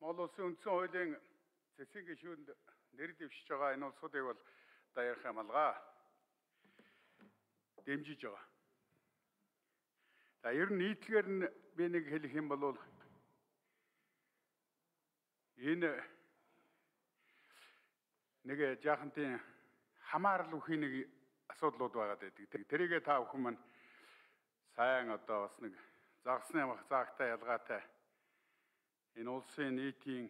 Монгол Улсын үндсэн хуулийн цэцгийн гишүүнд нэр дэвшиж байгаа энэ улсуудыг бол одоо ярих юм алгаа дэмжиж байгаа. За ер нь нийтлэгээр нь би нэг хэлэх юм бол энэ нэг жаахан тийм хамаарал үхийн нэг асуудлууд байгаад байдаг. Тэрийгээ та бүхэн маань сайн одоо бас нэг загсны заагтай ялгаатай энэ улсын нийтийн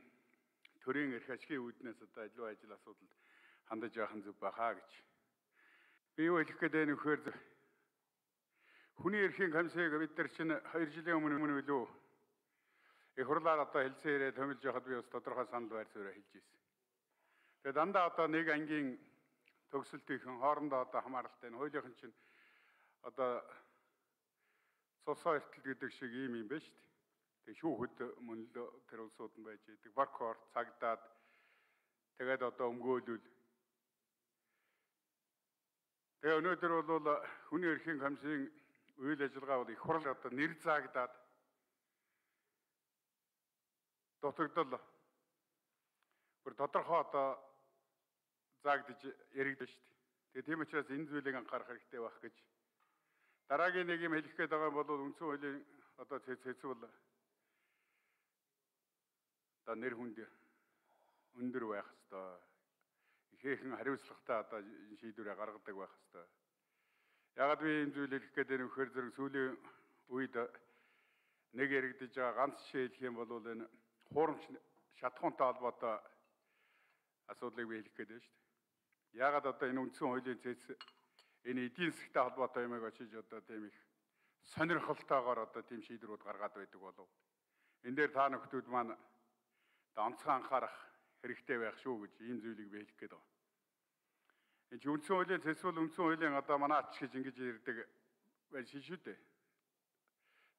төрийн эрх ашигын үүднээс одоо илүү ажил асуудалд хандаж явах нь зөв байхаа гэж. Би юу хэлэх гээд байна вэхээр хүний эрхийн комиссийг бид нар чинь 2 жилийн өмнө үлээ их хурлаар одоо хэлсэн ирээд томилж явахад би бас тодорхой санал байр суурь хэлж ирсэн. Тэгээд дандаа одоо нэг ангийн төгсөлтийнхэн хоорондоо одоо хамааралтай хуулийнхан чинь одоо цусаа эртэл гэдэг шиг юм байна шүү дээ. Тэг шүүхэд мөн л тэр улсууд нь байж идэг. Баркор цагдаад тэгээд одоо өмгөөлөл. Тэгээ өнөөдөр бол хүний эрхийн комиссийн үйл ажиллагаа бол их хурл одоо нэр заагдаад дутагдал бүр тодорхой одоо заагдж яригдсан шүү дээ. Тэгээ тийм учраас энэ зүйлийг анхаарах хэрэгтэй байх гэж. Дараагийн нэг юм хэлэх гээд байгаа бол үндсэн хуулийн одоо цэцвэл одоо нэр хүнд өндөр байх ёстой. Ихээхэн хариуцлагатай одоо шийдвэрээ гаргадаг байх ёстой. Яагаад би энэ зүйл хэлэх гээд байна вэ гэхээр зэрэг сүүлийн үед нэг яригдж байгаа ганц жишээ хэлэх юм бол энэ хуурамч шатхуунтай холбоотой асуудлыг би хэлэх гээд байна шүү дээ. Яагаад одоо энэ үндсэн хуулийн цэц энэ эдийн засгийн холбоотой юмыг очиж одоо тийм их сонирхолтойгоор одоо тийм шийдвэрүүд гаргаад байдаг болов. Энэ дээр та нөхдүүд маань онцгой анхаарах хэрэгтэй байх шүү гэж ийм зүйлийг би хэлэх гээд байна. Энэ үндсэн хуулийн цэцвэл үндсэн хуулийн одоо манаач гэж ингэж ярьдаг байл шүү дээ.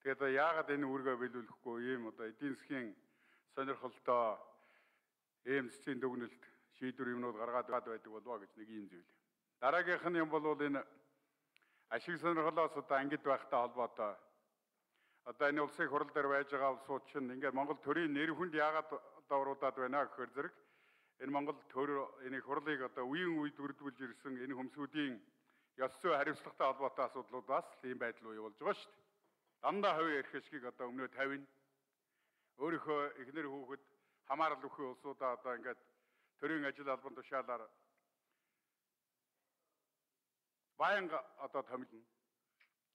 Тэгээд одоо яагаад энэ үүргээ биелүүлэхгүй ийм одоо эдийн засгийн сонирхолтой ийм цэцгийн дүгнэлт шийдвэр юмнууд гаргаад байдаг болов гэж нэг ийм зүйл. Дараагийнх нь юм бол энэ ашиг сонирхлоос одоо ангид байхтай холбоотой. Одоо энэ улсын хурал дээр байж байгаа улсууд чинь ингээд Монгол төрийн нэр хүнд яагаад давруудаад байна гэхээр зэрэг энэ Монгол төр энэ хурлыг одоо үеийн үед үрдүүлж ирсэн энэ хөмсүүдийн ёс зүй хариуцлагатай холбоотой асуудлуудаас ийм байдал үе болж байгаа шүү дээ. Дандаа хувийн эрх ашгийг одоо өмнөө тавина. Өөрийнхөө эхнэр хүүхэд хамаарал өгөх улсуудаа одоо ингээд төрийн ажил албан тушаалаар баянга одоо томилно.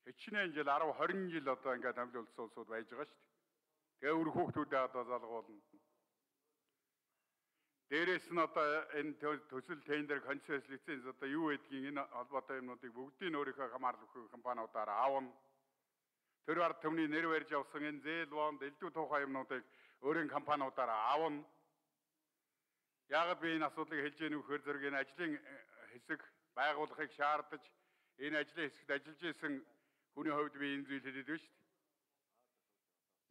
Хичнээн жил 10 20 жил одоо ингээд томилсон улсууд байж байгаа шүү дээ. Тэгээ өр хүүхдүүдээ одоо залгуулна. Дээрээс нь одоо энэ төсөл тендер концесс лиценз одоо юу гэдгийг энэ холбоотой юмнуудыг бүгдийг өөрийнхөө хамаарал өгөх компаниудаар аавна. Тэр ард түмний нэр барьж авсан энэ зээл бонд элдв тухай юмнуудыг өөрийн компаниудаар аавна. Яагаад би энэ асуудлыг хэлж яах вэ гэхээр зэрэг энэ ажлын хэсэг байгуулахыг шаардаж энэ ажлын хэсэгт ажиллаж исэн хүний хувьд би энэ зүйл хэлээд байна шүү дээ.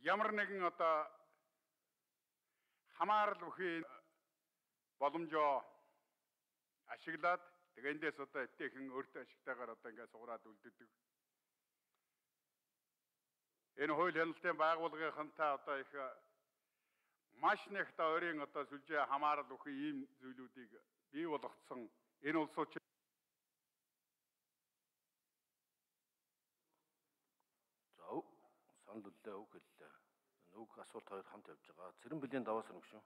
Ямар нэгэн одоо хамаарал бүхий боломжоо ашиглаад тэгээ эндээс одоо эвтэйхэн өөртөө ашигтайгаар одоо ингээд сугараад үлддэг. Энэ хууль хяналтын байгууллагынхантай одоо их маш нэгт ойрын одоо сүлжээ хамаарал бүхий ийм зүйлүүдийг бий болгоцсон энэ улсууд санал үллээ үг хэллээ. Нүг асуулт хоёр хамт явж байгаа. Цэрэн бэлгийн даваас өргөшөө.